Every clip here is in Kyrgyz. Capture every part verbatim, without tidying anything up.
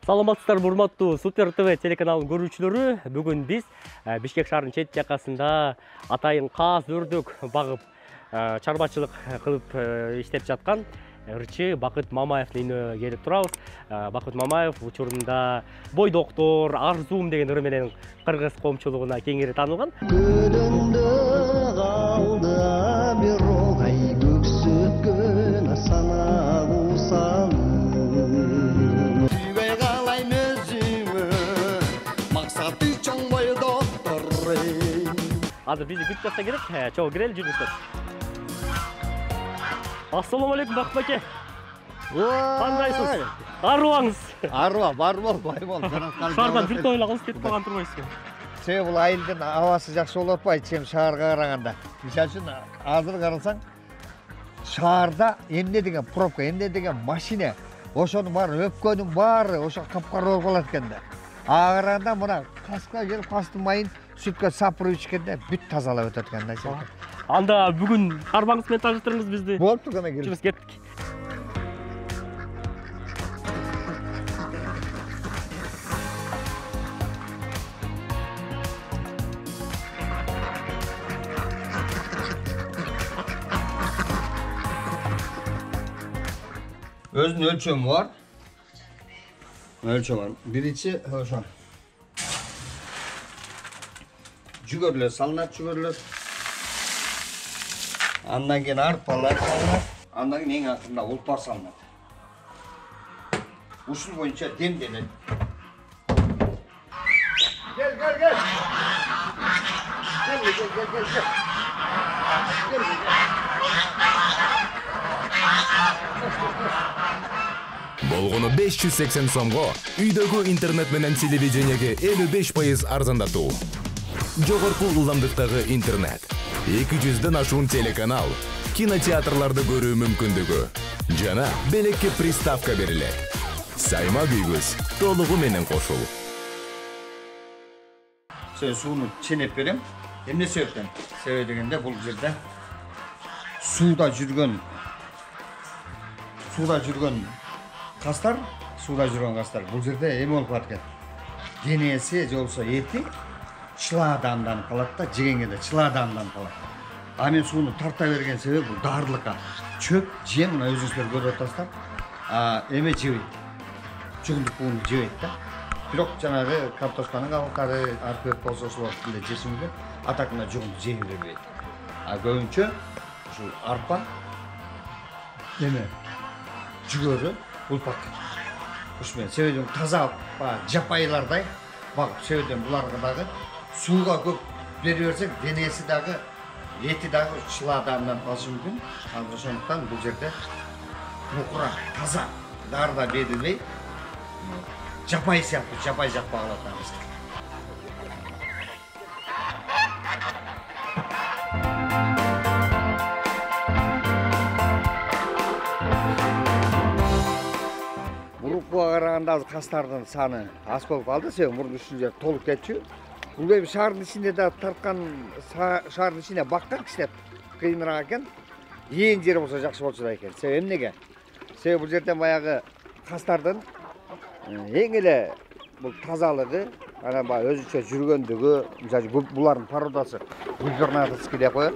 Саламатсыздар, урматтуу Супер ТВ телеканалынын көрүүчүлөрү. Бүгүн биз Бишкек шаарынын чет жакасында атайын каз өрдүк багып чарбачылык кылып иштеп жаткан ырчы Бакыт Мамаевдин үйүнө келип турабыз. Бакыт Мамаев учурунда Бой доктор, Арзум деген ыры менен кыргыз коомчулугуна кеңири таанылган. Азыр бизди күтүп жатса керек. Чогуу кирели, жүрүңүздөр. Ассаламу алейкум Бакыт аке. Кандайсыз? Арыбаңыз? Арыба, бар бол, бай бол. Шаардан бир топ эле калыс кетип калган турбайсызбы? Себеби бул айылдын абасы жакшы болуп атпайбы, чем шаарга караганда. Мисалы үчүн азыр карасаң, шаарда эмне деген пробка, эмне деген машина, ошонун баары өпкөнүн баары ошо капкара болуп калат экен да. Ага караганда мына каска келип кастын майын сүткө сапырып ичкенде бүт тазалап өтөт экен да. Анда бүгүн карбаңыз менен тааныштырыңыз бизди. Болупту, кана келип. Чүбүз кеттик. Өзүнүн өлчөмү бар. Өлчөм бар. Биринчи ошо. Жүгөрлөр салынат, жүгөрлөр. Андан кийин арпалар салынат. Андан кийин эң акырында улпар салынат. Ушул боюнча демделет. Гел, гел, гел. Гел, гел, гел, гел. Гел, гел. Болгону беш жүз сексен сомго үйдөгү интернет менен телевидениеге элүү беш пайыз арзандатуу. Жогорку ылдамдыктагы интернет, эки жүздөн ашуун телеканал, кинотеатрларды көрүү мүмкүндүгү жана белекке приставка берилет. Сайма күйгүз толугу менен кошул. Сен сууну ченеп берем. Эмне себептен? Себеби дегенде бул жерде сууда жүргөн сууда жүргөн кастар, сууда жүргөн кастар бул жерде эме болуп калат экен. Денеси же болбосо эти чыладамдан калат да, жегенге да чыладамдан калат. А мен сууну тарта берген себеби бул даарылыкка. Чөп, жем, мына өзүңүздөр көрүп атасыздар. А эме жебейт. Жүгүндүк бууну жебейт да. Бирок жанагы картошканын кабыктары, арпеп болсо ошол убакытында жеши мүмкүн. А так мына жүгүндү жей бербейт. А көбүнчө ушул арпа, эме, жүгөрү, улпак. Ушу менен себеби таза жапайылардай багып, себеби буларга дагы сууга көп бере берсек, денеси дагы, эти дагы чыладамдан калышы мүмкүн. Азыр ошондуктан бул жерде мукура, таза, дары да берилбей, жапай сыяктуу, жапай жаппагыла атабыз. Мурункуга караганда азыр кастардын саны аз болуп калды, себеби мурун ушул жер толуп кетчү. Бул эми шаардын ичинде да тарткан, шаардын ичинде баккан кичине кыйыныраак экен. Ээн жери болсо жакшы болчу да экен. Себеби эмнеге? Себеби бул жерден баягы кастардын эң эле бул тазалыгы, анан баягы өзүнчө жүргөндүгү, мисалы булардын породасы губернаторский деп коет.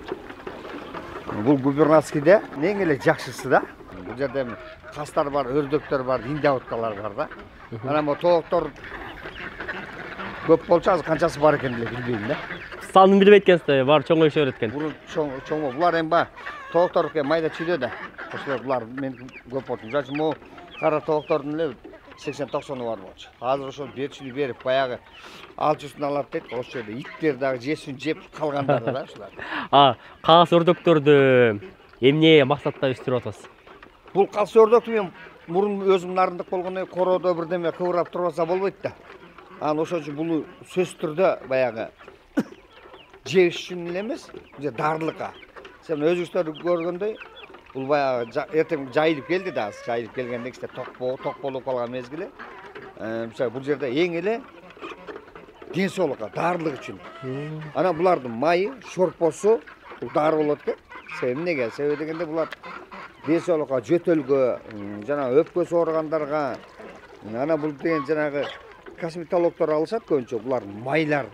Бул губернаторскийде эң эле жакшысы да. Бул жерде кастар бар, өрдөктөр бар, индиауткалар бар да. Анан бу тооктор көп болчу, азыр канчасы бар экенин деле билбейм да. Санын билбейт экенсиз, бар чоңойшо берет экен. Бул чоң чоң булар эми ба тооктордуку майда чүйдө да. Ошолор булар мен көп болчу. Мисалы үчүн могу кара тооктордун эле сексен токсону бар болчу. Азыр ошол берчүнү берип баягы алчусын алат дейт. Ошол жерде иттер дагы жесин жеп калгандары да ушулар. А, каз өрдөктөрдү эмне максатта өстүрүп атасыз? Бул каз өрдөктү мен мурун өзүм нарындык болгондо короодо бирдеме кыбырап турбаса болбойт да. Анан ошон үчүн бул сөзсүз түрдө баягы жеш үчүн эле эмес, даарылыкка. Сен өзүңүздөр көргөндөй, бул баягы эртең жайылып келди да, жайылып келгенде кичине ток болуп калган мезгили. Мисалы бул жерде эң эле ден соолукка, даарылык үчүн. Анан булардын майы, шорпосу бул дары болот экен. Себеби эмнеге? Себеби дегенде булар ден соолукка, жөтөлгө, жана өпкөсү ооругандарга, Ана бул деген жанагы косметологдор алышат көбүнчө, булар майлар.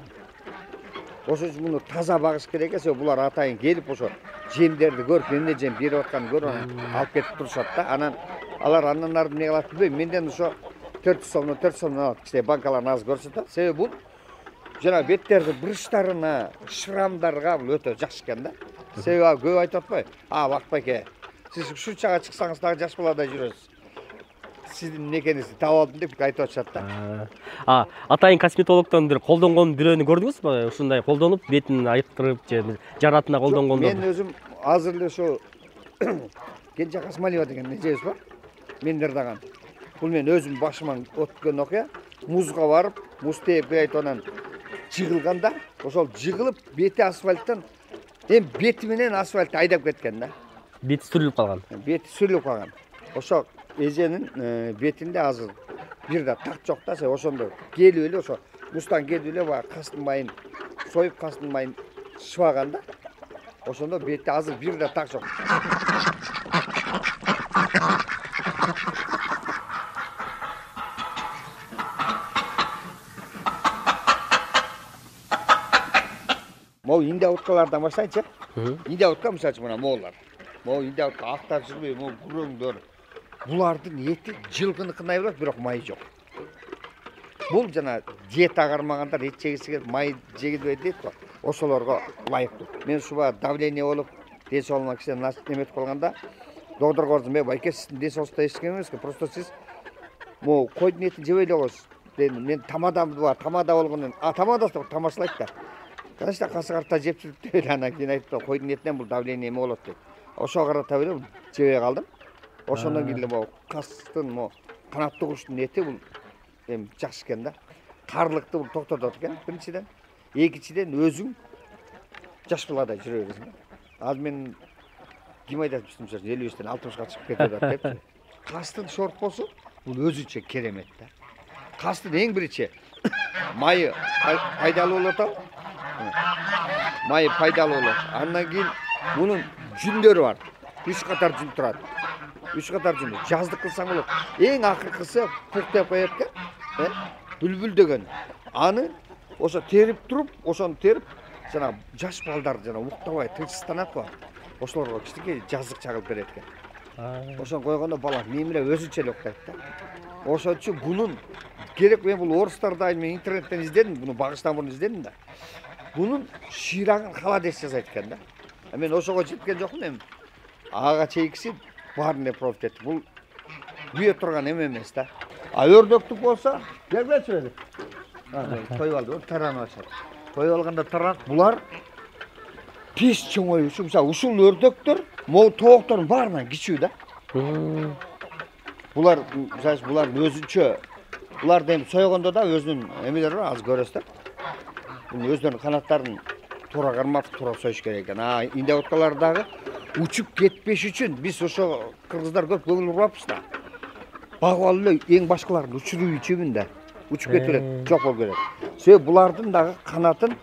Ошон үчүн муну таза багыш керек эсе, булар атайын келип ошо жемдерди көрүп, эмне жем берип атканын көрүп, алып кетип турушат да. Анан алар андан ары эмне кылат билбейм. Менден ошо төрт жүз сомдон төрт жүз сомдон алып кичине банкаларын азыр көрсөтөт. Себеби бул жана беттерди буручтарына, шрамдарга бул өтө жакшы экен да. Себеби көп айтып атпайбы? А, Бакбайке, сиз ушунчага чыксаңыз дагы жаш баладай жүрөсүз. Сиздин эмнекеңизди таап алдым деп айтып атышат да. А, атайын косметологдон бир колдонгон бирөөнү көрдүңүзбү? Ушундай колдонуп, бетин айыктырып же жаратына колдонгондор. Мен өзүм азыр эле ошо Кенже Касмалиева деген эжебиз бар. Мен дардаган. Бул мен өзүм башыман өткөн окуя. Музга барып, муз тээп айтып анан жыгылганда, ошол жыгылып бети асфальттан эм бети менен асфальтты айдап кеткен да. Бети сүрүлүп калган. Бети сүрүлүп калган. Ошо эженин бетинде азыр бир да так жок да. Ошондо келип эле ошо музтан келип эле баягы кастын майын союп, кастын майын шыбаган да. Ошондо бети азыр бир да так жок. Могу Индия уткалардан баштайынчы. Индия утка мисалы үчүн мына моголар. Могу Индия утка актар жүрбөй, могу күрөңдөр. Булардын эти жылкыныкындай болот, бирок майы жок. Бул жана диета кармагандар, эт жегиси келип, май жегилбей дейт го. Ошолорго ылайыктуу. Мен ушуга давление болуп, ден соолугума кичине неметип калганда, доктурга бардым, "Эй, байке, сиздин ден соолугуңузда эч кем эмес, просто сиз могу койдун этин жебей эле коесуз." Дедим, мен тамадам бар, тамада болгондон, а тамадасы тамашалайт да. Конечно, касыгарта жеп жүрүп деп анан кийин айтып, койдун этинен бул давление эме болот деп. Ошого карата эле жебей калдым. Ошондон кийин эле могу кастын, могу канаттуу куштун эти бул эми жакшы экен да. Карлыкты бул токтотот экен биринчиден. Экинчиден өзүң жаш баладай жүрө бересиң. Азыр мен ким айтат бизче элүү бештен алтымышка чыгып кетет депчи. Кастын шорпосу бул өзүнчө керемет да. Кастын эң биринчи майы пайдалуу болот. Майы пайдалуу болот. Андан кийин мунун жүндөрү бар. үч катар жүн турат. үч катар жүн. Жаздык кылсаң болот. Эң акыркысы пук деп коет экен. Э? Бүлбүл деген. Аны ошо терип туруп, ошону терип, жана жаш балдар жана уктабай тынчсызданат го. Ошолорго кичине жаздык чагылып берет экен. Ошону койгондо бала мемиле өзүнчө эле уктайт да. Ошон үчүн бунун керек, мен бул орустарда мен интернеттен издедим, буну багыштан мурун издедим да. Бунун ширагын холодец жасайт экен да. Мен ошого жеткен жокмун эми. Ага чейкиси баарын пробовать этти. Бул күйө турган эме эмес да. А өрдөктүк болсо, келбечи эле. Тоюп алды, таранып атышат. Тоюп алганда таранат, булар тез чоңоюу үчүн, мисалы, ушул өрдөктөр могу тооктордун баарынан кичүү да. Булар, мисалы, булар өзүнчө, буларды эми сойгондо да өзүнүн эмелери бар, азыр көрөсүздөр. Бул өздөрүнүн канаттарын туура кармап, туура союш керек экен. А Индия уткалары дагы учуп кетпеш үчүн биз ошо кыргыздар көп көңүл бурбаппыз да. Багып алып эле эң башкаларын учуруп ичебин да. Учуп кетип берет, жок болуп кетет. Себеби булардын дагы канатын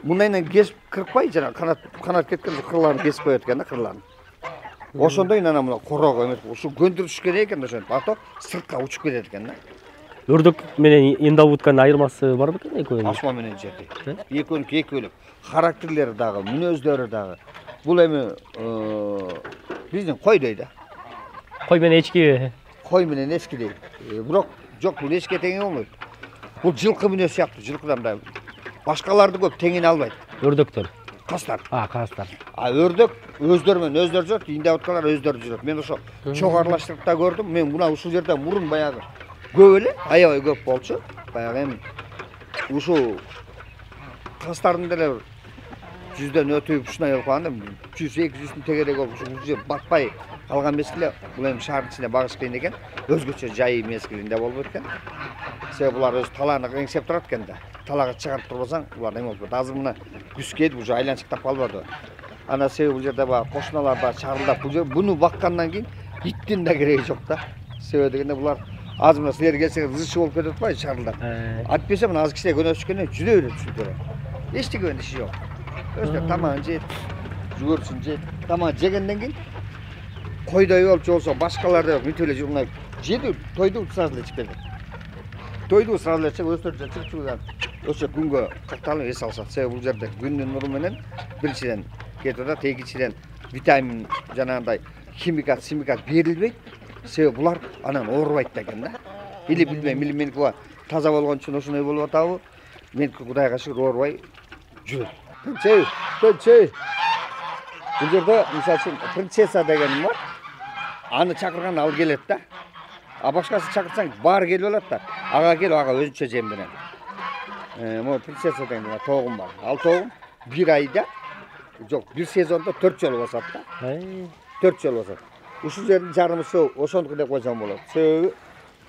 мындайынан кесип кыркпай, жана канат канат кеткен кырларын кесип коет экен да, кырларын. Ошондой анан мына корого эмес, ушу көндүрүш керек экен ошентип. Ато сыртка учуп кетет экен да. Өрдөк менен Индия утканын айырмасы барбы экен экөөнүн? Асман менен жерди. Экөөнүкү эки бөлөк. Характерлери дагы, мүнөздөрү дагы. Бул эми биздин койдой да. Кой менен эчки. Кой менен эчкидей. Бирок жок, бул эчке теңи болбойт. Бул жылкы мүнөз сыяктуу, жылкыдан да башкаларды көп теңине албайт. Өрдөктөр. Кастар. А, кастар. А өрдөк өздөрү менен өздөрү жүрөт, Индия уткалар өздөрү жүрөт. Мен ошо чоң аралаштырып да көрдүм. Мен мына ушул жерде мурун баягы көп эле, аябай көп болчу. Баягы эми ушул кастардын деле жүздөн өтүп ушундай болуп калганда жүз эки жүздүн тегерек болуп ушул жер батпай калган мезгилде бул эми шаардын ичинде багыш кыйын экен. Өзгөчө жай мезгилинде болуп өткөн. Себеби булар өз талааны эңсеп турат экен да. Талаага чыгарып турбасаң, булар эме болот. Азыр мына күз келип уже айланчыктап калбады. Ана себеби бул жерде баягы кошуналар да чарылдап, бул жер буну баккандан кийин иттин да кереги жок да. Себеби дегенде булар азыр мына силер келсеңиз ызчы болуп кетип атпайбы чарылдап. Айтпаса мына азыр кичине көнөшкөндөн жүдө берет сүлдөрө. Эчтеке иши жок. Өздөрү тамагын жейт, жүгөрүсүн жейт. Тамак жегенден кийин койдой болуп же болсо башкалар деп мүтүп эле журнап жеди, тойду сразу эле ичип келди. тойду сразу эле өстөрчө чыгып ошо күнгө катталып эс алышат. Себеби бул жерде күндүн нуру менен биринчиден кетип атат, экинчиден витамин жанагындай химикат, химикат берилбейт. Себеби булар анан оорубайт да экен да. Или билбейм, или меники таза болгон үчүн ошондой болуп атабы? Меники Кудайга шүгүр оорубай жүрөт. Чей, чей. Бул жерде мисалы үчүн принцесса деген бар. Аны чакырганда ал келет да. А башкасын чакырсаң баары келип алат да. Ага келип, ага өзүнчө жемденет. Э, могу принцесса деген тоогум бар. Ал тоогум бир айда, жок, бир сезондо төрт жолу басат да. төрт жолу басат. Ушул жердин жарымы суу ошондуку деп койсом болот. Себеби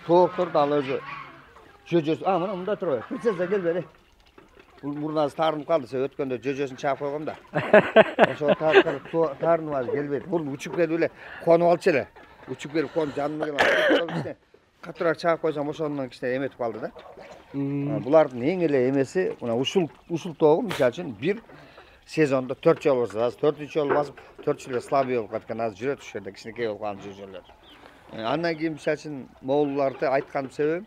тоокторду ал өзү жөжөсү, а мына мында турбай. Принцесса кел бери. Бул мурунасы таарынып калды. Себеби өткөндө жөжөсүн чаап койгом да. Ошо таарынып азыр келбейт. Бул учуп келип эле конуп алчу эле. Учуп келип конуп жаныма келип катуураак чаап койсом ошондон кичине эметип калды да. Булардын эң эле эмеси мына ушул ушул тоогум мисалы үчүн бир сезондо төрт жолу басат. Азыр төртүнчү жолу басып, төртүнчү эле слабый болуп каткан. Азыр жүрөт ушул жерде кичинекей болуп калган жөжөлөр. Андан кийин мисалы үчүн моулуларды айтканым себебим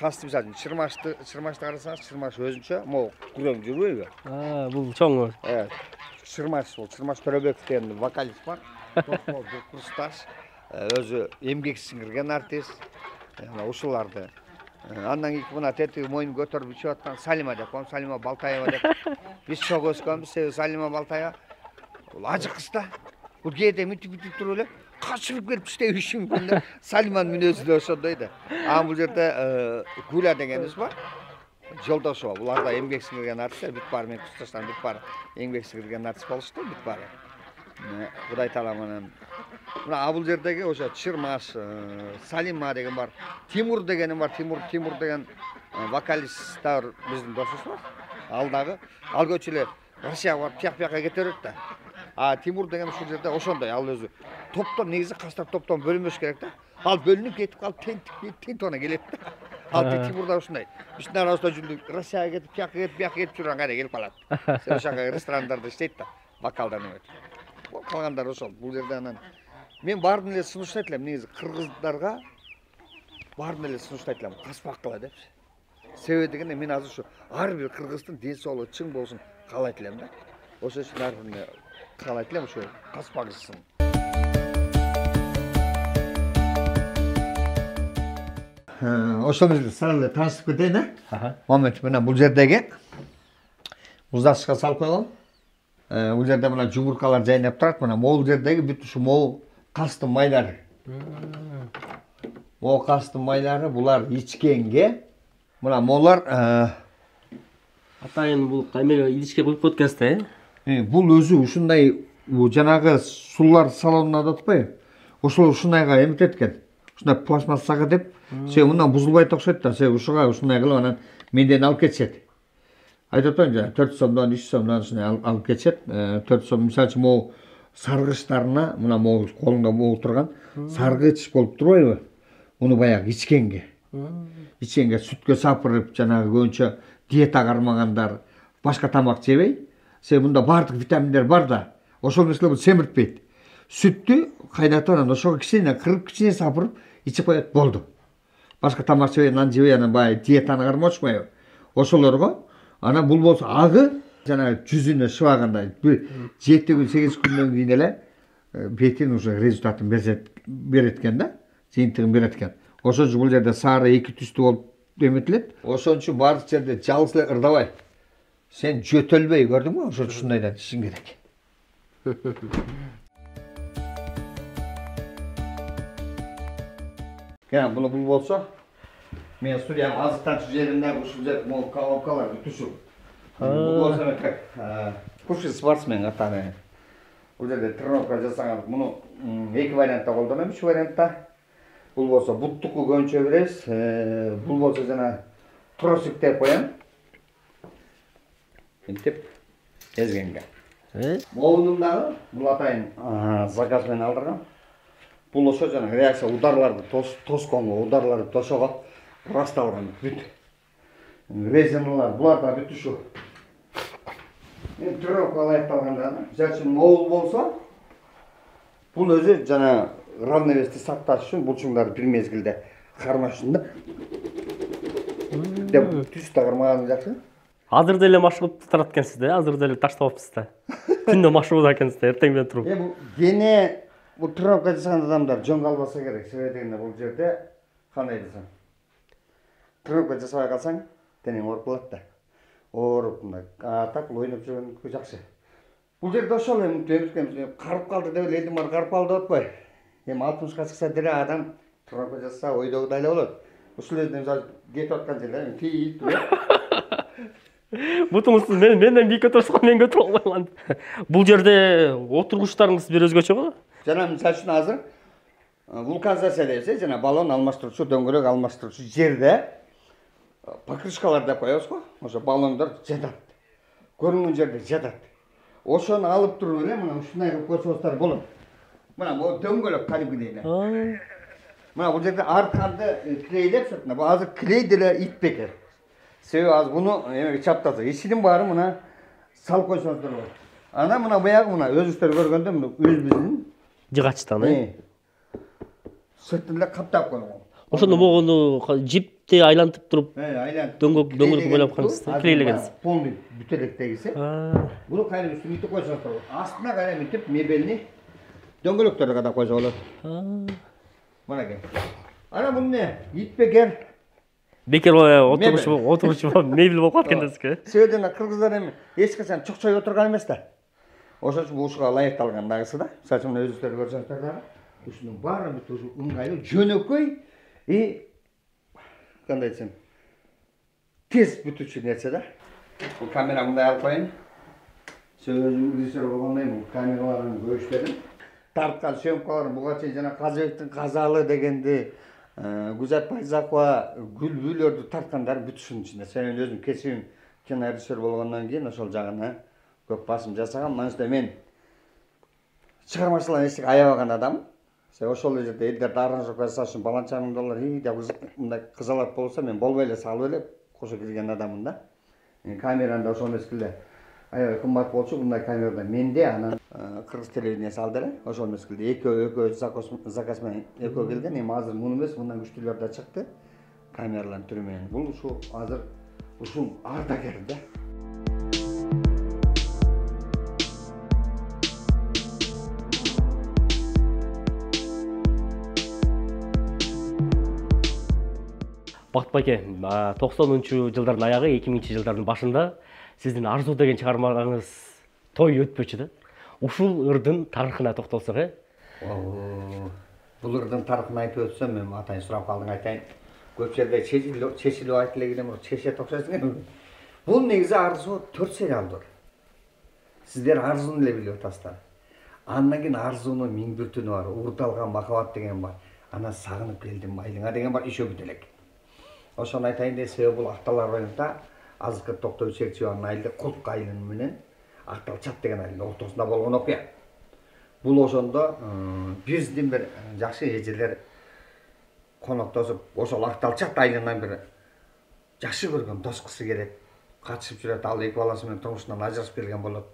касты мисалы үчүн чырмашты, чырмашты карасаңыз, чырмаш өзүнчө могу күрөң жүрбөйбү? А, бул чоңу. Э, чырмаш бул, Чырмаш Төрөбеков деген вокалист бар. Токтор курсташ, өзү эмгек сиңирген артист. Ушуларды. Андан кийин мына тетиги моюн көтөрүп ичип аткан Салима деп коем, Салима Балтаева деп. Биз чогуу өскөнбүз, себеби Салима Балтаева бул ажы кыз да. Бул кээде митип-митип туруп эле качырып келип иштебеши мүмкүн да. Салиманын мүнөзү да ошондой да. А бул жерде Гуля дегенибиз бар. Жолдошова. Булар да эмгек сиңирген артист, бүт баары менин курсташтарым бүт баары эмгек сиңирген артист болушту, бүт баары. Кудай таала менен мына бул жердеги ошо Чырмаш, Салима деген бар. Тимур дегеним бар. Тимур, Тимур деген вокалист да биздин досубуз бар. Ал дагы ал көчү эле Россияга барып тияк-бияка кете берет да. А Тимур деген ушул жерде ошондой, ал өзү топтон негизи кастар топтон бөлүнбөш керек да. Ал бөлүнүп кетип калып тентип тентона келет да. Ал Тимур да ушундай. Биздин арабызда жүрүп Россияга кетип, тияка кетип, бияка кетип жүргөн кайда келип калат. Ошондой ресторандарда иштейт да, вокалдан эметип. Калгандар ошол. Бул жерде анан мен баарын эле сунуштайт элем, негизи кыргыздарга баарын эле сунуштайт элем, каспак кыла депчи. Себеби дегенде мен азыр ушу ар бир кыргыздын ден соолугу чың болсун каалайт элем да. Ошол үчүн баарын каалайт элем ушу каспагышсын. Ошол жерде сразу эле таанышып кетейин, э? Момент менен бул жердеги муздашка салып койгом. Бул жерде мына жумуркалар жайнап турат. Мына могул жердеги бүт ушу могул кастын майлары. Могул кастын майлары булар ичкенге мына молар Атайын бул кайме идишке коюп коет да, э? Бул өзү ушундай жанагы сулар салонуна да атпайбы? Ошол ушундайга эметет экен. Ушундай пластмассага деп, себеби мындан бузулбайт окшойт да. Себеби ушуга ушундай кылып анан менден алып кетишет. Айтып атпаймынбы жана төрт сомдон, үч сомдон ушундай алып кетишет. төрт сом мисалы үчүн могу саргычтарына, мына могу колуңда могу турган саргыч болуп турбайбы? Муну баягы ичкенге. Ичкенге сүткө сапырып, жанагы көбүнчө диета кармагандар башка тамак жебей. Себеби мында баардык витаминдер бар да. Ошол нерселер семиртпейт. Сүттү кайнатып анан ошого кичине кырып, кичине сапырып ичип коет, болду. Башка тамак жебей, нан жебей анан баягы диетаны кармашпайбы? Ошолорго анан бул болсо агы жана жүзүнө шыбагандай жети күн, сегиз күндөн кийин эле бетин уже результатын берет экен да, жыйынтыгын берет экен. Ошон үчүн бул жерде сары эки түстүү болуп эметилет. Ошон үчүн баардык жерде жалгыз эле ырдабай. Сен жөтөлбөй, көрдүңбү? Ошо ушундайдан ичишиң керек. Кена буну бул болсо мен студиям азыктанчу жеринде ушул жер могу колонкалар бүтүшүп. Бул болсо эметек. Бывший спортсмен атаны. Бул жерде тренировка жасаган. Муну эки вариантта колдоном, үч вариантта. Бул болсо буттуку көбүнчө беребиз. Бул болсо жана тросик деп коем. Мынтип эзгенге. Э? Моунун дагы бул атайын заказ менен алдырган. Бул ошо жана реакция ударларды тосконго, ударларды тошого расталган бүт. Резиналар булар да бүт ушу. Мен тренировка аякталганда, мисалы үчүн моул болсо, бул өзү жана равновести сакташ үчүн булчуңдарды бир мезгилде кармаш үчүн да. деп түз тагырмаганы жакшы. Азыр деле маршрут турат экенсиз да, азыр деле таштабапсыз да. Күндө маршрут экенсиз да, эртең менен туруп. Э бул гене бул тренировка жасаган адамдар жөн калбаса керек. Себеби дегенде бул жерде кандай десем, тренировка жасабай калсаң, денең ооруп калат да. Ооруп мындай, а так ойноп жүргөн жакшы. Бул жерде ошол эми темиркемиз карып калды деп эле элдин баары карып калды деп атпайбы. Эми алтымышка чыкса деле адам тренировка жасаса ойдогудай эле болот. Ушул жерде мисалы кетип аткан жерде тийип туруп. Бутуңуз мен менден бийикке турса мен көтөрө албайм. Бул жерде отургучтарыңыз бир өзгөчө го? Жана мисалы үчүн азыр вулканизация десе, жана баллон алмаштыруучу, дөңгөлөк алмаштыруучу жерде покрышкалар деп коебуз го. Ошо баллондор жатат. Көрүнгөн жерде жатат. Ошону алып туруп эле мына ушундай кылып койсоңуздар болот. Мына бул дөңгөлөк калибри эле. Мына бул жерде арканды клейлеп сыртына. Бул азыр клей деле ит бекер. Себеби азыр буну эмеге чаптаса, ичинин баары мына салып койсоңуздар болот. Ана мына баягы мына өзүңүздөр көргөндө мына өзүбүздүн жыгачтан, э? Сыртын эле каптап койгон. Ошондо могуну жипти айлантып туруп, Э, айлантып. дөңгөлөк дөңгөлөк бойлоп коюңуз, клейлегенсиз. Полный бүтөлектегиси. Буну кайра үстүнө мынтип койсоңуздар болот. Астына кайра мынтип мебельни дөңгөлөктөрдү кадап койсо болот. Мынакей. Ана бул не? Ит бекер. Бекер отургуч отургуч мебель болуп калат экен деске. Себеби кыргыздар эми эч качан чокчой отурган эмес да. Ошон үчүн ушуга ылайыкталган дагысы да. Мисалы үчүн мына өзүңүздөр көрсөңүздөр дагы ушунун баары бүт ушу ыңгайлуу, жөнөкөй и кандай десем, тез бүтүүчү нерсе да. Бул камера мындай алып коеюн. Сөзүм режиссер болгондой бул камералардын көчтөрүн тарткан съемкаларын буга чейин жана Казыбектин Казалы дегенди, Гүзат Байзакова Гүлбүлөрдү тарткандар бүт ушунун ичинде. Сен өзүм кесибим кинорежиссер болгондон кийин ошол жагына көп басым жасагам. Манча мен чыгармачылыктан эчтеке аябаган адаммын. Себеби ошол жерде элдерди аранжировка жасаш үчүн баланчаның доллар и деп мындай кызалат болсо мен болбой эле салып эле кошо кирген адаммын да. Камераны да ошол мезгилде аябай кымбат болчу, мындай камерада менде анан кыргыз телевидениясы алды эле. Ошол мезгилде экөө экөө заказ менен экөө келген. Эми азыр муну эмес, мындан күчтүүлөр да чыкты. Камералардын түрү менен. Бул ушу азыр ушул ардагер да. Бакыт байке, токсонунчу жылдардын аягы, эки миңинчи жылдардын башында сиздин Арзуу деген чыгармаңыз той өтпөчү да. Ушул ырдын тарыхына токтолсок, э? Бул ырдын тарыхын айтып өтсөм, мен атайын сурап калдың айтайын. Көп жерде чечилип айтып эле келем, чечет окшойсуң. Бул негизи Арзуу төрт сериал бар. Сиздер Арзууну эле билип атасыздар. Андан кийин Арзуунун миң бир түнү бар, Уурдалган махабат деген бар. Анан Сагынып келдим майылыңа деген бар, ишөө бүт элек. Ошону айтайын деп, себеби бул Актал районунда азыркы Токтогул Чекчебанын айылы Кулк айылы менен Акталчат деген айылдын ортосунда болгон окуя. Бул ошондо биздин бир жакшы эжелер коноктосуп, ошол Акталчат айылынан бир жакшы көргөн дос кызы келет, катышып жүрөт, ал эки баласы менен турмушунан ажырашып келген болот.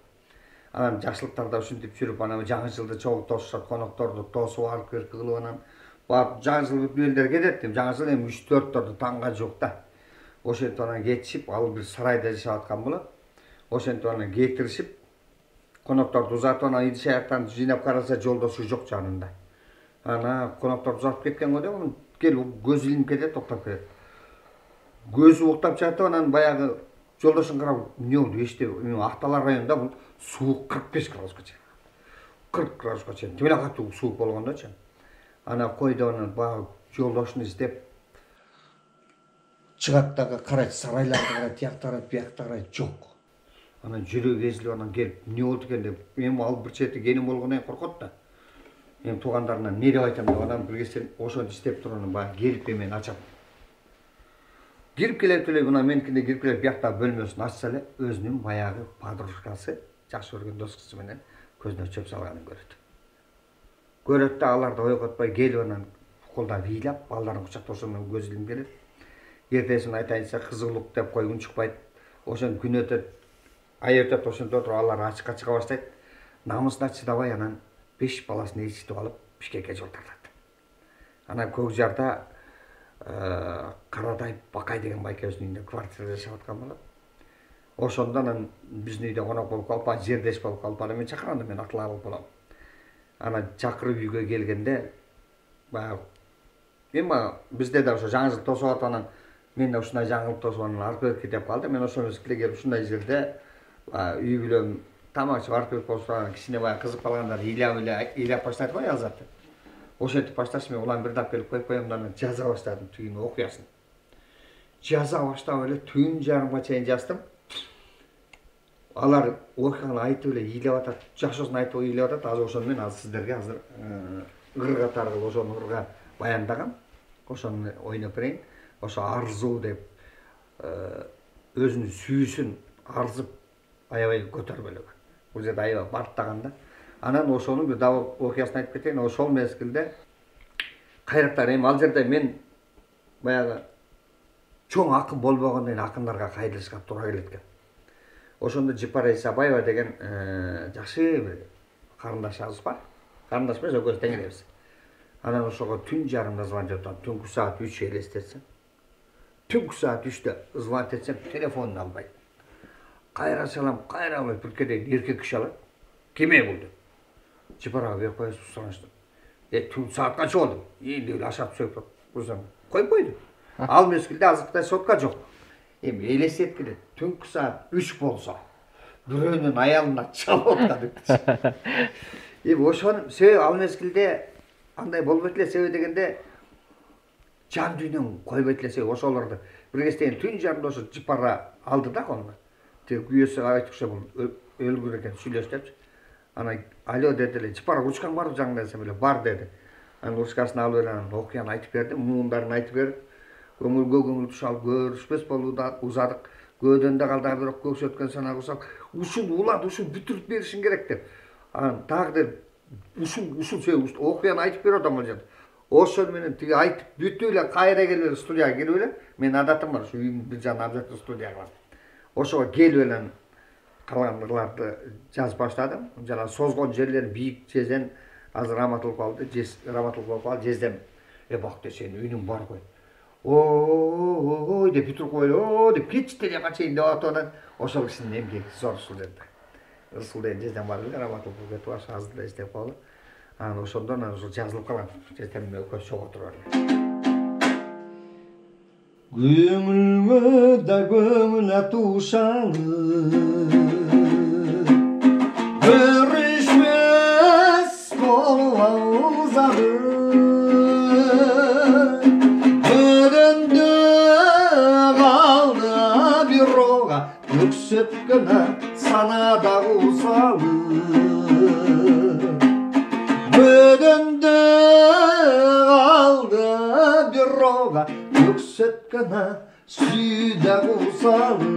Анан жакшылыктарда ушинтип жүрүп, анан жаңы жылды чогуу тосушат, конокторду тосуп алып келип кылып анан барып жаңы жыл бүт кетет. Жаңы жыл эми үч төрттөрдү таңга жок да. Ошентип анан кетишип, ал бир сарайда жашап аткан болот. Ошентип анан кетиришип, конокторду узатып анан идиш аяктарын жыйнап караса жолдошу жок жанында. Ана конокторду узатып кеткен го деп, анан келип көзү илинип кетет, токтоп кетет. Көзү уктап жатып анан баягы жолдошун карап, эмне болду эчтеби, Актал районунда бул суук кырк беш градуска чейин. кырк градуска чейин. Тим эле катуу суук болгондочу. Ана койду анан баягы жолдошун издеп чыгат дагы карайт, сарайларды карайт, тиякта карайт, биякта карайт, жок. Анан жүрөгү эзилип анан келип, эмне болду экен деп, эми ал бир чети кеним болгондон коркот да. Эми туугандарынан эмне деп айтам деп анан биргесин ошону издеп туруп анан баягы келип эмени ачат. Кирип келет эле, мына меникине кирип келет, биякта бөлмөсүн ачса эле, өзүнүн баягы подружкасы, жакшы көргөн дос кызы менен көзүнө чөп салганын көрөт. Көрөт да аларды ойготпой келип анан колдо бийлап, балдарын кучактап ошондон көз илинип келет. Эртесин айтайынча кызыгылык деп кой унчукпайт. Ошон күн өтөт, ай өтөт, ошентип отуруп алар ачыкка чыга баштайт. Намысына чыдабай анан беш баласын ээрчитип алып Бишкекке жол тартат. Анан Көк Жарда Каратай Бакай деген байкебиздин үйүндө квартирада жашап аткан болот. Ошондон анан биздин үйдө конок болуп калып, анан жердеш болуп калып, анан мен чакырганда мен атыла алып болом. Анан чакырып үйгө келгенде баягы эми бизде да ошо жаңы жыл тосуп атып, анан мен да ушундай жаңылык тосуп анан алып берип кетип калды. Мен ошол мезгилде келип ушундай жерде үй бүлөм тамак ичип алып берип коюшту. Кичине баягы кызык калгандар ыйлап эле ыйлап баштады го аялзатты. Ошентип башташ, мен улам бир дап келип коюп коем да анан жаза баштадым түйүн окуясын. Жаза баштап эле түн жарымга чейин жаздым. Алар окуяны айтып эле ыйлап атат, жашоосун айтып ыйлап атат. Азыр ошону мен азыр сиздерге азыр ыр катары кылып ошону ырга баяндагам. Ошону ойноп берейин. Ошо арзуу деп өзүнүн сүйүүсүн арзып аябай көтөрбөлөгөн. Бул жерде аябай барктаганда. Анан ошонун бир дабыл окуясын айтып кетейин. Ошол мезгилде кайрактар эми ал жерде мен баягы чоң акын болбогондон кийин акындарга кайрылышка туура келет экен. Ошондо Жипара Исабаева деген жакшы бир карындашыбыз бар. Карындаш эмес, экөөбүз тең элебиз. Анан ошого түн жарымда звонок атат. Түнкү саат үч элестетсем. Түнкү саат үчтө звонок этсем, телефонун албайт. Кайра чалам, кайра албайт. Бир кеде эркек киши алат. Кеме бул деп. Жипарага берип коесуз, сураштым. Э, түн саат канча болду? Эми эле ашап сөйп курсам, коюп койду. Ал мезгилде азыркыдай сотка жок. Эми элестеткиле, түнкү саат үч болсо, бирөөнүн аялына чалып атат. Эми ошонун себеби ал мезгилде андай болбойт эле, себеби дегенде жан дүйнөм койбойт эле, себеби ошолорду бир кезден түн жарымда ошо Жипара алды да колуна. Тиги күйөөсү айтыкча бул өлгүр экен, сүйлөштүпчү. Анан алё деди эле, Жипара ручкаң барбы жаңында десем эле, бар деди. Анан ручкасын алып эле анан окуяны айтып бердим, муундарын айтып берип, көңүлгө көңүл тушалып көрүшпөс болууда узадык. Көөдөн да калды бирок көксө өткөн санаа курсак, ушул улат, ушул бүтүрүп беришиң керек деп. Анан дагы деп, ушул ушул себеп окуяны айтып берип атам бул жерде. Ошол менен тиги айтып бүтүп эле кайра келип эле студияга келип эле, менин адатым бар, ушу үйүмдүн бир жагына обязательно студия бар. Ошого келип эле калгандарды жазып баштадым. Жана созгон жерлер бийик жезен, азыр раматылып калды, жез раматылып болуп калды, жездем. Э бакты сен үйүнүң бар кой. Ой деп бүтүрүп койду, о деп кетчти деп качайын деп атып анан ошол кишинин эмгеги зор ушул жерде. Ысыл деген жездем бар эле, раматылып кетип ашы азыр эле иштеп калды. Анан ошондон анан ушул жазылып калган. Жездем экөөбүз чогуу отуруп эле. Көңүлгө да көңүл атушаңы көрүшмөс болуп аузады көдөндө калды бирога өксөткөнө санада кусалы көдөндө калды бирога өксөткөнө сүйдө кусалы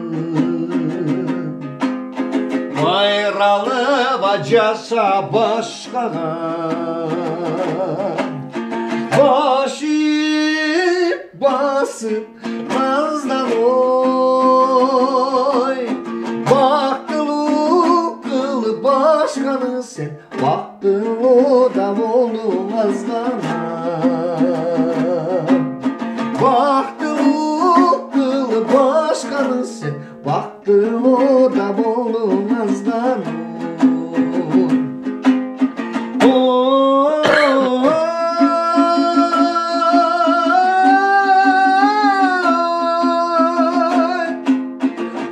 кайралып жаша башкага башып басып наздан ой бактылуу кылып башканы сен бактылуу да болуң азгана бактылуу кылып башканы сен бактылуу да болуң азгана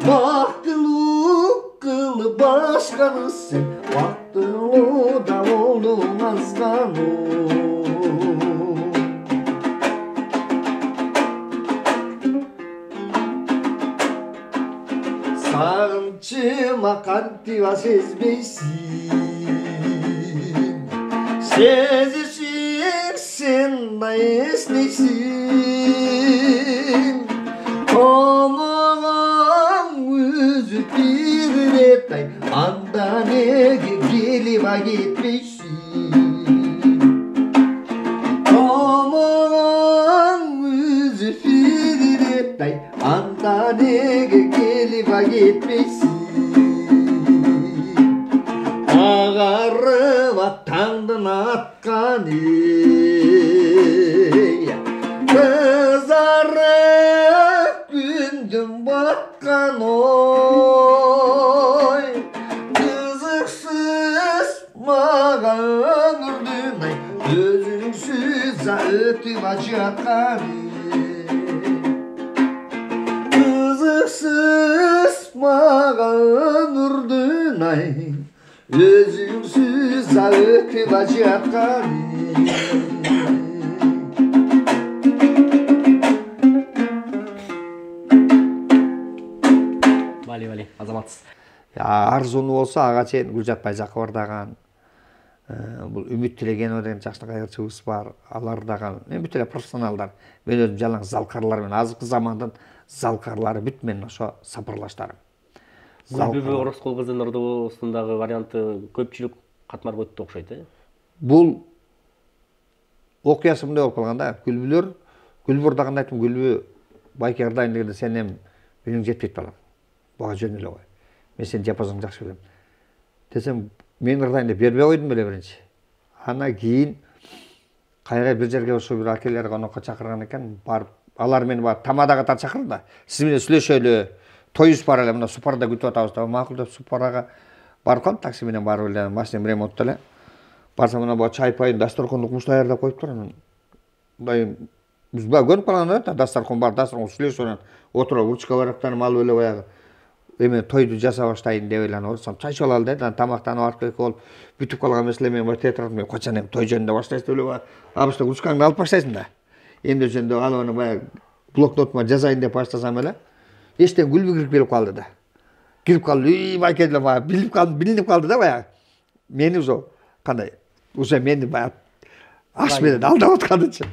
бактылуу кылып башканы сен бактылуу да болуң азгана сагынчыма кантип сезбейсиң сезишиң сен да эстейсиң комогоң үзүп бир ирет ай анда неге келип кетпейсиң комогоң үзүп бир ирет ай анда неге келип кетпейсиң агарып таңдын атканы кыз жаткан ой кызыксыз мага өмүрдүн ай өзүңсүз өтүп жаткан кызыксыз мага өмүрдүн ай өзүңсүз өтүп жаткан Бали бали азаматсыз. Арзуну болсо ага чейин Гүлжат Байжакова даган, бул Үмүт Тилегенова деген жакшы кайгырчыбыз бар. Алар даган мен бүт эле профессионалдар. Мен өзүм жалаң залкарлар менен азыркы замандын залкарлары бүт менен ошо сапарлаштарым. Гүлбүбү Ороскол кызынын ырдоосундагы варианты көпчүлүк катмарга өттү окшойт, э? Бул окуясы мындай болуп калган да. Гүлбүлөр, Гүлбүр даган айттым, Гүлбү Байке ырдайын дегенде сен эми үнүң жетпейт балам. Буга жөн эле кой. Мен сенин диапазоңду жакшы билем. Десем, мен ырдайын деп бербей койдум беле биринчи. Анан кийин кайра бир жерге ошо бир акелер конокко чакырган экен, барып алар мени бар тамадага тар чакырды да. Сиз менен сүйлөшөлү, тоюбуз бар эле, мына Супарда күтүп атабыз да. Макул деп Супарага барып калдым, такси менен барып эле, машинем ремонтто эле. Барсам мына бу чай пайын дасторконду куш даярдап коюптур. Анан мындай биз баа көнүп калган да, дасторкон бар, дасторкон сүйлөшүп анан отуруп урчка барактанып алып эле баягы эме тойду жаса баштайын деп эле анан орсам чай чалалы деди. Анан тамактанып арып келип болуп бүтүп калган эмес эле мен бар театрдын мен качан эми той жөнүндө баштайсыз деп эле абышта урчкаңды алып баштайсың да. Эмне жөнүндө алып анан баягы блокнотума жазайын деп баштасам эле эчтен Гүлбү кирип келип калды да. Кирип калды, үй Байке деле баягы билип калды, билинип калды да баягы. Мени уже кандай, уже мени баягы аш менен алдап атканычы.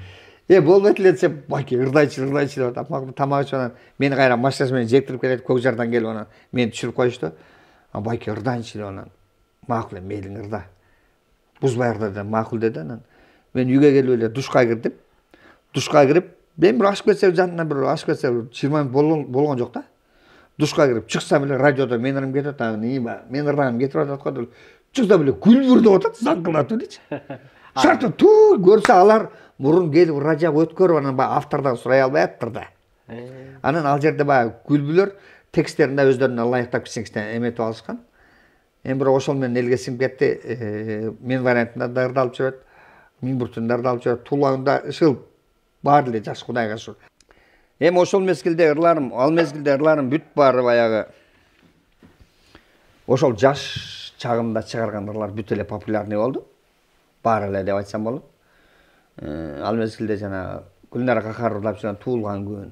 Э болбойт эле десем, Байке ырдайчы, ырдайчы деп атап, тамак ичип анан мени кайра машинасы менен жектирип келет, Көк жардан келип анан мени түшүрүп коюшту. Анан Байке ырдайынчы деп анан макул эми мейлиң ырда. Бузбай ырда деп макул деди. Анан мен үйгө келип эле душка кирдим. Душка кирип, мен бир ашып кетсе жанынан бир ашып кетсе жыйырма мүнөт болгон жок да. Душка кирип чыксам эле радиодо менин ырым кетип атат. Нима, менин ырдаганым кетип атат го деп чыксам эле Гүлбүр деп атат, заңкылдатып элечи. Шарты ту көрсө алар мурун келип радиого өткөрүп анан баягы автордон сурай албай аттыр да. Анан ал жерде баягы Гүлбүлөр тексттеринде өздөрүнө ылайыктап кичине эметип алышкан. Эми бирок ошол менен элге сиңип кетти. Мен вариантында да ырдалып жүрөт, Миң бир түндө ырдалып жүрөт, Туулаңда ышыл баары эле жакшы Кудайга шүгүр. Эми ошол мезгилде ырларым, ал мезгилде ырларым бүт баары баягы ошол жаш чагымда чыгарган ырлар бүт эле популярный болду. Баары эле деп айтсам болот. Ал мезгилде жана Гүлнара Какар ырдап жүргөн Туулган күн.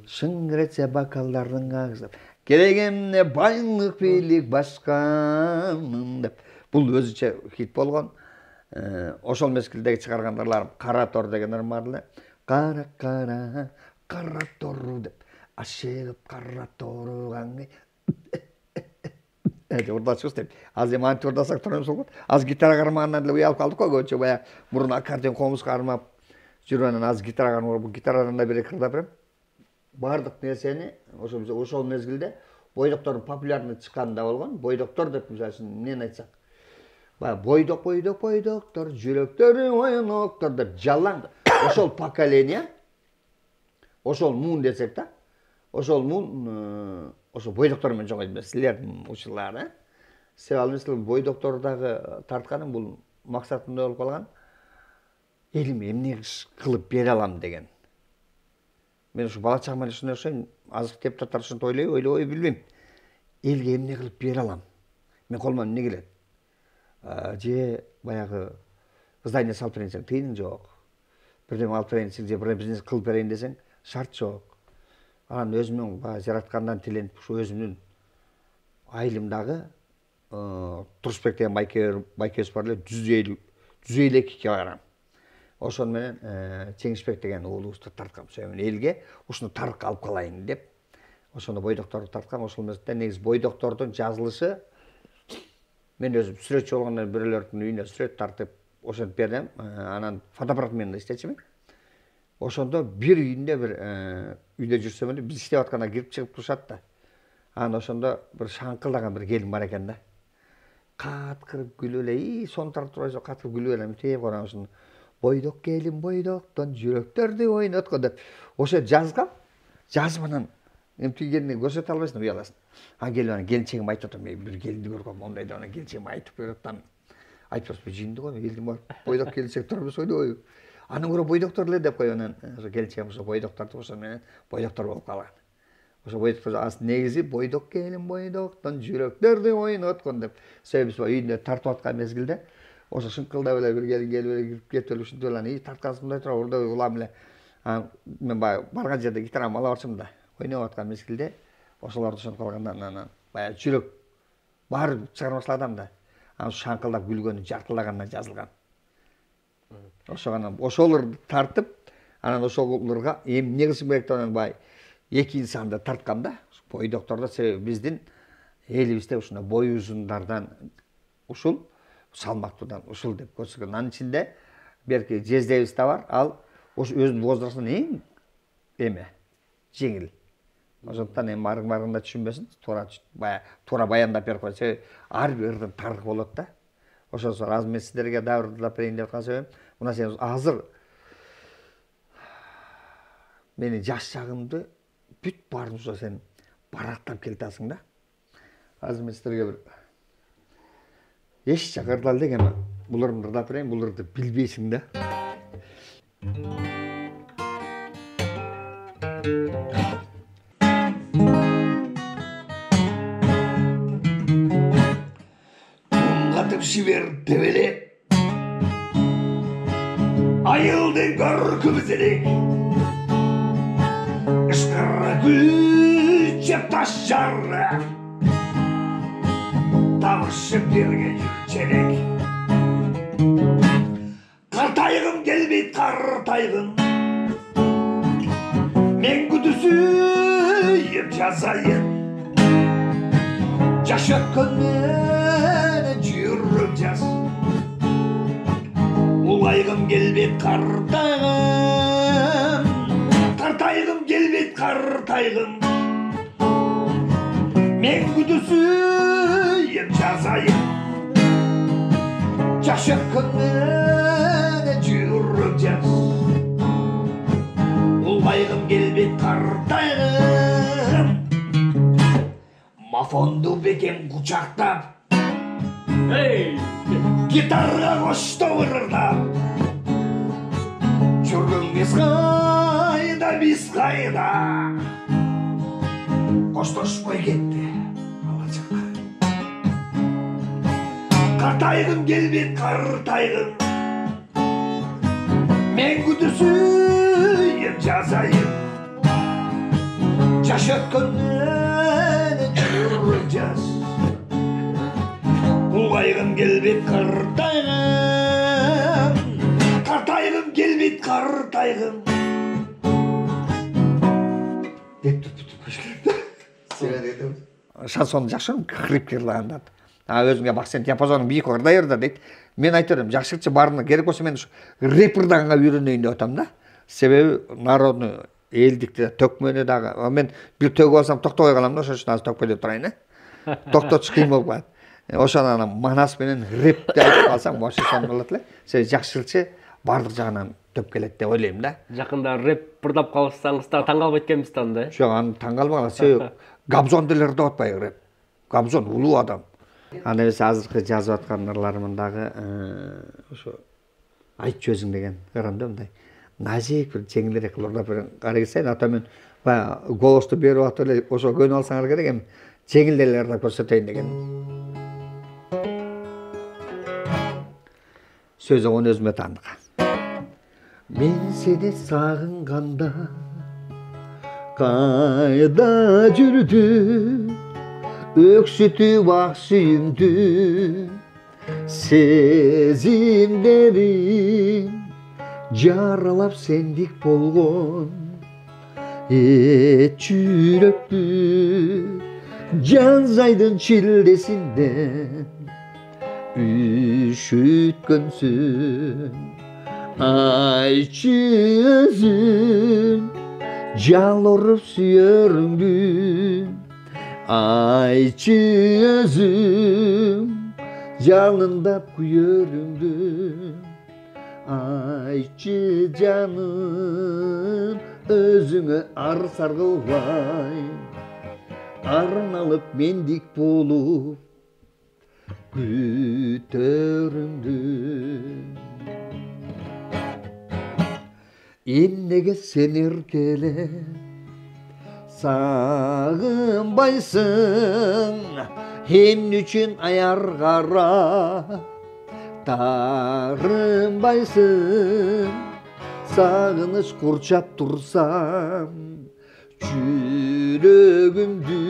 Шыңгыретсе бакалдардын агызып, керегемне байлык бийлик башкамын деп. Бул өзүчө хит болгон. Ошол мезгилдеги чыгарган ырларым Кара тор деген ырым бар эле. Кара кара кара тору деп ашыгып кара торуган деп урдачыбыз деп. Азыр эми антип урдасак тура эмес болот. Азыр гитара кармагандан эле уялып калдык го көбүнчө баягы мурун аккордеон комуз кармап жүрүп анан азыр гитара кармап, бул гитарадан да бир эки ырдап берем. Бардык нерсени ошол ошол мезгилде бойдоктордун популярный чыкканында болгон. Бойдоктор деп мисалы үчүн эмнени айтсак, баягы бойдок бойдок бойдоктор, жүрөктөрү оюноктор деп жалаң ошол поколение, ошол муун десек да, ошол муун ошо бойдоктор менен жогойт эмес, силердин учурлары. Себеби ал мисалы бойдоктор дагы тартканым бул максатымда болуп калган. Элиме эмне кылып бере алам деген. Мен ушу бала чагымда ушундай окшойм, азыркы депутаттар ушинтип ойлойбу, ойлобойбу билбейм. Элге эмне кылып бере алам? Мен колуман эмне келет? Же баягы здание салып берейин десең, тыйының жок. Бирдеме алып берейин десең, же бир бизнес кылып берейин десең, шарт жок. Анан өзүмдүн баягы жараткандан тиленип, ушу өзүмдүн айылымдагы Турушбек деген байке байкебиз бар эле, жүз элүү жүз элүү экиге барам. Ошон менен Чеңишбек деген уулубузду тарткам. Мен элге ушуну тарк алып калайын деп, ошондо бойдокторду тарткам. Ошол мезгилде негизи бойдоктордун жазылышы мен өзүм сүрөтчү болгондон бирөөлөрдүн үйүнө сүрөт тартып ошентип бердим. Анан фотоаппарат менен иштечүмүн. Ошондо бир үйүндө бир үйдө жүрсөм эле биз иштеп атканда кирип чыгып турушат да. Анан ошондо бир шаңкылдаган бир келин бар экен да. Каткырып күлүп эле, "И, сону тартып турбайсың, каткырып күлүп эле, тээ барам ушуну. Бойдок келин бойдоктон жүрөктөрдү ойноткон" деп ошо жазгам. Жазып анан эмтигенди көрсөтө албайсың, уяласың. А келип анан келинчегим айтып атам, мен бир келинди көргөм, мондай деп анан келинчегим айтып берип атам. Айтып атам, жийинди го, мен элдин бар. Бойдок келинчек турбуз ойдобойбу. Андан көрө бойдоктор эле деп коюп анан ошо келинчегим ошо бойдоктор ошо менен бойдоктор болуп калган. Ошо бойдоктор аслында негизи бойдок келин бойдоктон жүрөктөрдү ойноткон деп. Себеби биз үйүндө тартып аткан мезгилде ошо шыңкылдап эле бир келин келип эле кирип кетип эле ушинтип эле анан тарткансың мындай тура урда улам эле. Мен баягы барган жерде гитарамды ала барчумун да. Ойноп аткан мезгилде ошолорду ошентип калганда анан баягы жүрөк баары чыгарып башладым да. Анан шаңкылдап күлгөнү жартылагандан жазылган. Ошо анан ошолорду тартып, анан ошолорго эми эмне кылышым керек деп анан баягы эки инсанды тарткам да. Бойдоктордо себеби биздин элибизде ушундай бою узундардан ушул, салмактуудан ушул деп көрсөткөн. Анын ичинде берки жездебиз да бар, ал ошо өзүнүн возрастынан эң эме жеңил. Ошондуктан эми барың барганда түшүнбөсүн, туура баягы туура баяндап берип коет. Себеби ар бир ырдын тарыхы болот да. Ошосу азыр мен сиздерге дагы ырдап берейин деп аткан себебим, мына сен азыр менин жаш шагымды бүт баарын ошо сен барактап келатасың да. Азыр мен сиздерге бир эч жак ырдал деген бул ырды ырдап берейин, бул ырды билбейсиң да. Тумгатып жибер тебеле айылдын көркүмүз элек ышкыра күчөп ташар табышып берген жүрчелек картайгым келбейт картайгым мен күдүсүйүп жазайын жаш өткөн менен жүрөк жаз улайгым келбейт картайгым картайгым келбейт картайгым мен күдүсүйүп жазайын жаш өткөн менен жүрөк жаз улайгым келбейт картайгым мафонду бекем кучактап гитарга коштоп ырдап жүргөн биз кайда биз кайда коштошпой кетти ала жакка картайгым келбейт картайгым мен күдүсүйүп жазайын жаш өткөн менен жүрөк жаз улайгым келбейт картайгым картайгым келбейт картайгым деп шансонду жакшы хрип ырлаганда. А өзүңө бак, сен диапазону бийик ырдай ырда дейт. Мен айтып берем, жакшылыкчы баарына керек болсо мен ушу рэп ырдаганга үйрөнөйүн деп атам да. Себеби народну, элдикти, төкмөнү дагы. Мен бир төгүп алсам токтобой калам да, ошон үчүн азыр төкпөй деп турайын, э. Токтотуш кыйын болуп калат. Ошону анан манас менен рэпти айтып калсаң, вообще сон болот эле. Себеби жакшылыкчы бардык жагынан төп келет деп ойлойм да. Жакында рэп ырдап калсаңыз да таң калбайт экенбиз да анда. Жок, аны таң калбаган. Себеби Габзон деле ырдап атпайбы рэп. Габзон улуу адам. Анда эмес азыркы жазып аткан ырларымын дагы ошо айтчу өзүң деген ырымда мындай назик бир жеңилирээк кылып ырдап берген. Карай келсең, ата мен баягы голосту берип атып эле ошо көнүп алсаңар керек, эми жеңил эле ырдап көрсөтөйүн деген. Сөзү оны өзүмө таандык. Мен сени сагынганда кайда жүрдүм, өксүтүп ак сүйүмдү сезимдерим жаралап сендик болгон эч жүрөктү жаз айдын чилдесинде үшүткөнсүн айчы өзүм жалоруп сүйөрүңдү айчы өзүм жалындап күйөрүңдү айчы жаным өзүңө ар саргылбай, арналып мендик болуп күтөрүңдү. Эмнеге сен эркелеп сагынбайсың, эмне үчүн аяр карап таарынбайсың? Сагыныч курчап турсам жүрөгүмдү,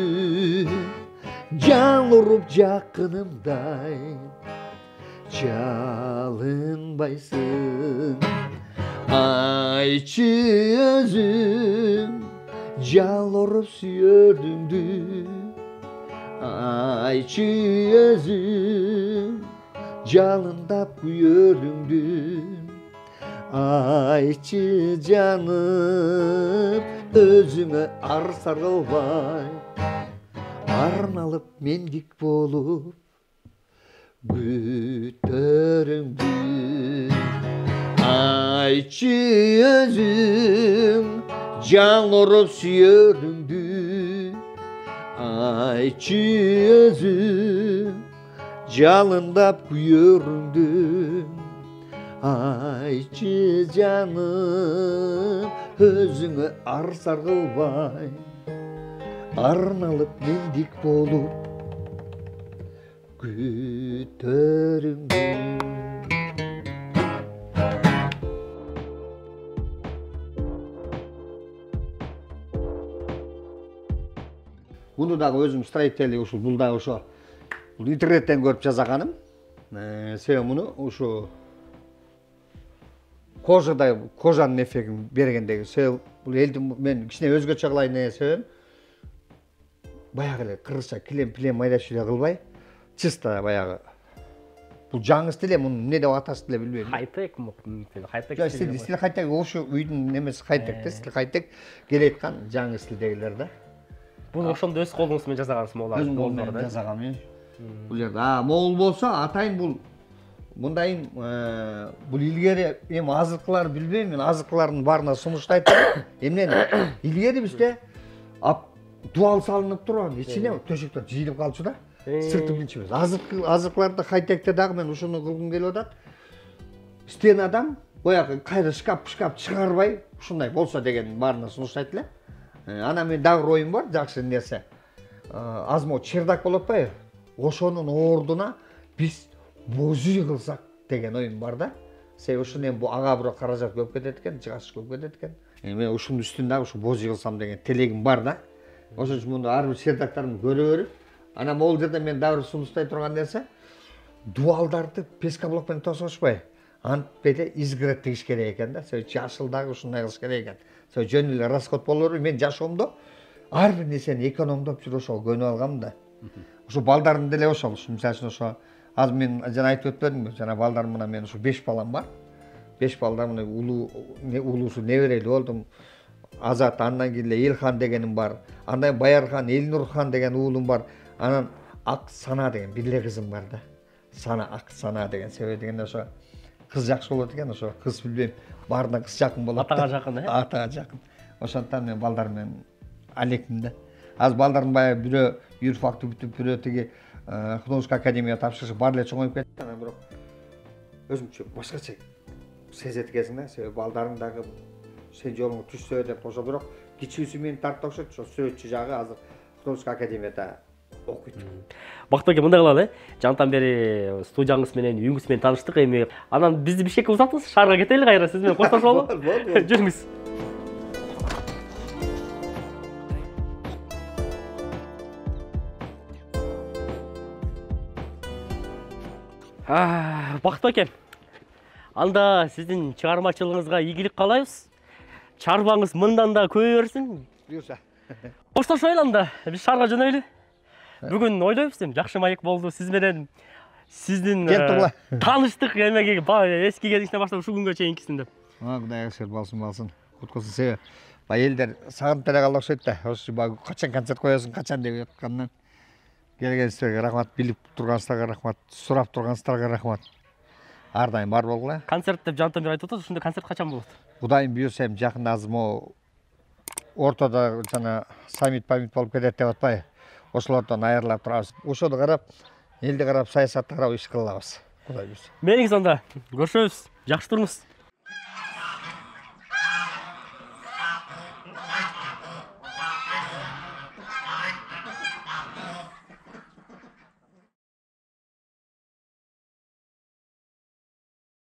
жан уруп жакынымдай жалынбайсың. Айчы өзүң жалоруп сүйөрүңдү, айчы өзүң жалындап күйөрүңдү, айчы жаным өзүңө ар саргылбай, арналып мендик болуп күтөрүңдү. Айчы өзүң жалоруп сүйөрүңдү, айчы өзүң жалындап күйөрүңдү, айчы жаным өзүңө ар саргылбай, арналып мендик болуп күтөрүңдү. Буну дагы өзүм строитель ушул бул дагы ошо бул интернеттен көрүп жасаганым. Себеби муну ушу кожадай кожанын эффектин бергендеги. Себеби бул элди мен кичине өзгөчө кылайын деген себебим баягы эле кыргызча килем-пилем майдаш эле кылбай, чисто баягы бул жаңы стиль, муну эмне деп аташты деле билбейм. Хай-тек мүмкүн, хай-тек стиль. Стиль хай-тек, ошо үйдүн немеси хай-тек да, стиль хай-тек келеткан жаңы стилдегилер да. Бул ошондо өз колуңуз менен жасагансыз моулар. Өзүм колум менен жасагам. Бул жерде а моул болсо атайын бул мындайын бул илгери эми азыркылар билбейм, мен азыркылардын баарына сунуштайт. Эмнени илгери бизде дуал салынып турган, ичине төшөктөр жыйылып калчу да. Сырты билчү эмес. Азыркы азыркыларда хай-текте дагы мен ушуну кылгым келип атат. Стенадан боягы кайра шкаф шкаф чыгарбай ушундай болсо деген баарына сунуштайт эле. Ана мен дагы оюм бар, жакшы нерсе. Азмо чердак болуп атпайбы? Ошонун ордуна биз боз үй кылсак деген оюм бар да. Себеби ушун эми ага бирок каражат көп кетет экен, жыгаш көп кетет экен. Эми ушунун үстүндө ушу боз үй кылсам деген телегим бар да. Ошон үчүн муну ар бир чердактарымды көрө берип, ана могул жерде мен дагы бир сунуштай турган нерсе, дуалдарды песка блок менен тосушпай, антип эле изгород тигиш керек экен да. Себеби жашыл дагы ушундай кылыш керек экен. Себеби жөн эле расход боло бербей, мен жашоомдо ар бир нерсени экономдоп жүрүп ошого көнүп алгам да. Ошо балдарым деле ошол. Мисалы үчүн ошо азыр мен жана айтып өтпөдүмбү? Жана балдарым менен мен ошо беш балам бар. беш балдар менен улуу улуусу неберели болдум. Азат, андан кийин эле Элхан дегеним бар. Андан Баярхан, Элнурхан деген уулум бар. Анан Ак Сана деген бир эле кызым бар да. Сана, Ак Сана деген. Себеби дегенде ошо кыз жакшы болот экен, ошо кыз билбейм, баарына кыз жакын болот. Атага жакын, э? Атага жакын. Ошондон мен балдарым менен алекмин да. Азыр балдарым баягы бирөө юрфакты бүтүп, бирөө тиги художественный академияга тапшырышып бар эле чоңоюп кетти. Анан бирок өзүмчө башкача сезет экенсиң да. Себеби балдарың дагы сен жолуңа түшсө деп ошо бирок кичүүсү мени тартып окшойт. Ошо сөтчү жагы азыр художественный академияда окуйт. Бактык эке, мындай кылалы, э? Жантан бери студияңыз менен, үйүңүз менен тааныштык. Эми анан бизди Бишкекке узатыңыз, шаарга кетели кайра, сиз менен коштошолу. Жүрүңүз. Бактык эке, анда сиздин чыгармачылыгыңызга ийгилик каалайбыз. Чарбаңыз мындан да көбөйө берсин. Буюрса. Коштошойлу анда, биз шаарга жөнөйлү. Бүгүн ойлойбуз эми жакшы маек болду. Сиз менен сиздин тааныштык эмеге эски кезиңизден баштап ушул күнгө чейинкисинде. А, Кудай ырахмет балсын балсын. Куткусун себеби бай элдер сагынып деле калды окшойт да. Ошо баягы качан концерт коесуң, качан деп аткандан келгениңизге рахмат, билип турганыңыздарга рахмат, сурап турганыңыздарга рахмат. Ар дайым бар болгула. Концерт деп Жантан бери айтып атат, ушундай концерт качан болот? Кудайым буйрса эми жакында азыр могу ортодо жана саммит памит болуп кетет деп атпайбы, ошолордон айырылып турабыз. Ошону карап, элди карап, саясатты карап иш кыла алабыз. Кудай буйрса. Мейлиңиз анда. Көрүшөбүз. Жакшы туруңуз.